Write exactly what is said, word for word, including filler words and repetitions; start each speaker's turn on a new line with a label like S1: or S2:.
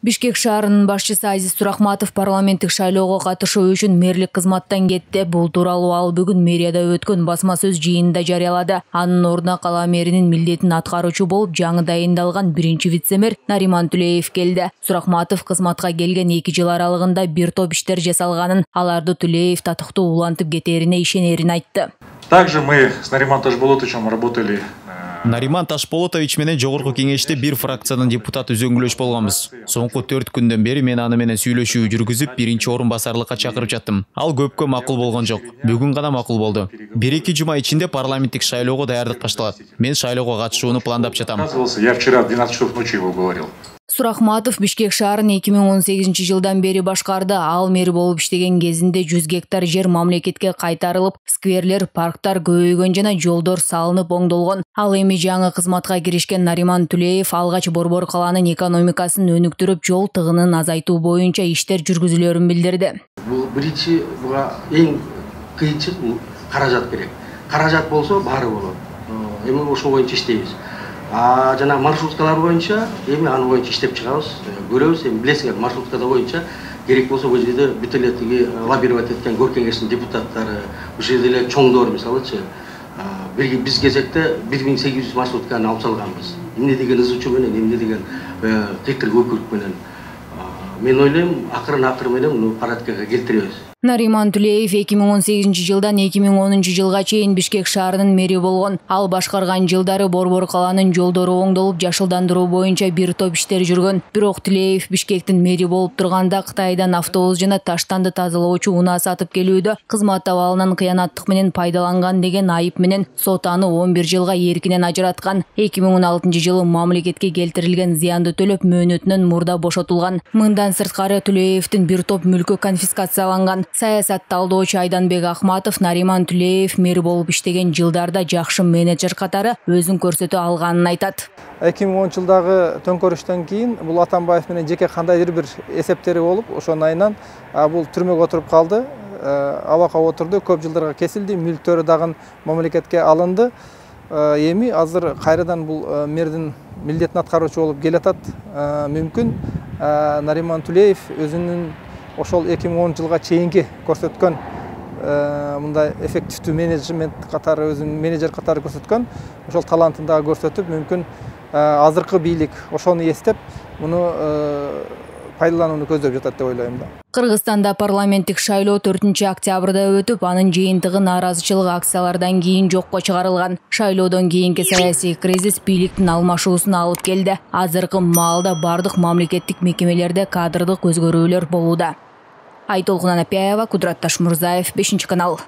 S1: Бишкек шаарынын башчысы Азиз Сурахматов парламенттик шайлоого катышуу үчүн мэрлик кызматтан кетти. Бул тууралуу ал бүгүн мэрияда өткөн басма сөз жыйынында жарыялады. Анын ордуна кала мэринин милдетин аткаруучу болуп жаңы дайындалган биринчи вице-мэр Нариман Түлеев келди. Сурахматов кызматка келген эки жыл аралыгында бир топ иштер жасалганын, аларды Түлеев татыктуу улантып кетерине ишенерин айтты.
S2: Также мы с Нариманом Ташболотовичем работали.
S3: Нариман Ташболотович менен жогорку кеңеште бир фракциянын депутаты үзөңгүлөш болгонбуз. Соңку төрт күндөн бери мен аны менен сүйлөшүү жүргүзүп, биринчи орун басарлыкка чакырып жаттым. Ал көпкө макул болгон жок. Бүгүн гана макул болду. бир эки жума ичинде парламенттик шайлоого даярдык башталат. Мен шайлоого катышууну пландап жатам.
S2: Я вчера в двенадцать часов ночи его говорил.
S1: Сурахматов Бишкек шаарын эки миң он сегизинчи жылдан бери башкарды. Ал мэр болуп иштеген кезинде жүз гектар жер мамлекетке кайтарылып, скверлер, парктар көбөйгөн жана жолдор салынып оңдолгон. Ал эми жаңы кызматка киришкен Нариман Түлеев алгач Борбор калаанын экономикасын өнүктүрүп, жол тыгынын азайтуу боюнча иштер жүргүзүлөрүн билдирди.
S4: Бул биринчи буга эң кыйынчы бул каражат керек. Каражат болсо баары болот. Эми ошол боюнча иштейбиз. А жана маршруткалар боюнча эми аны боюнча иштеп чыгабыз, көрөбүз. Эми билесиңер, маршруткада боюнча керек болсо бул жерде бүт эле тиги лоббировать эткен гор кеңештин депутаттары, бул жерде эле чоңдор мисалычы, бир биз кезекте бир миң сегиз жүз маршрутканы алып салганбыз. Эмне деген ызычуу менен, эмне деген кыйкыр көкүрүк менен. Мен ойлойм, акырын акыр менен муну порядкага келтиребиз.
S1: Нариман Түлеев эки миң он сегизинчи жылдан эки миң онунчу жылга чейин Бишкек шаарынын мэри болгон. Ал башкарган жылдары Борбор калаанын жолдору оңдолуп, жашылдандыруу боюнча бир топ иштер жүргөн. Бирок Түлеев Бишкектин мэри болуп турганда Кытайдан автобус жана таштанды тазалоочу унаа сатып келүүдө кызмат абалынан кыянаттык менен пайдаланган деген айып менен сот аны он бир жылга эркинен ажыраткан. эки миң он алтынчы жылы мамлекетке келтирилген зыянды төлөп мөөнөтүнөн мурда бошотулган. Мындан сырткары Түлеевдин бир топ мүлкү конфискацияланган. Саясат талдоочу Айданбек Ахматов Нариман Түлеев мэр болуп иштеген жылдарда жакшы менеджер катары өзүн көрсөтө алганын айтат.
S5: эки миң онунчу жылдагы төңкөрүштөн кийин бул Атамбаев менен жеке кандайдыр бир эсептери болуп, ошонун айынан бул түрмөгө отуруп калды. Абакка отурду, көп жылдарга кесилди, мүлктөрү дагы мамлекетке алынды. Эми азыр кайрадан бул мэрдин милдетин аткаруучу болуп келатат. Мүмкүн Нариман Түлеев өзүнүн ошол эки миң онунчу жылга чейинки көрсөткөн мындай эффективдүү менеджмент катары, өзүнүн менеджер катары көрсөткөн ошол талантын дагы көрсөтүп, мүмкүн азыркы бийлик ошону эстеп, муну пайдаланууну көздөп жатат деп ойлойм да.
S1: Кыргызстанда парламенттик шайлоо төртүнчү октябрда өтүп, анын жыйынтыгы нааразычылык акциялардан кийин жокко чыгарылган. Шайлоодон кийинки саясий кризис бийликтин алмашуусуна алып келди. Азыркы маалда бардык мамлекеттик мекемелерде кадрдык өзгөрүүлөр болууда. Айтолкун Анапяева, Кудрат Ташмурзаев, бешинчи канал.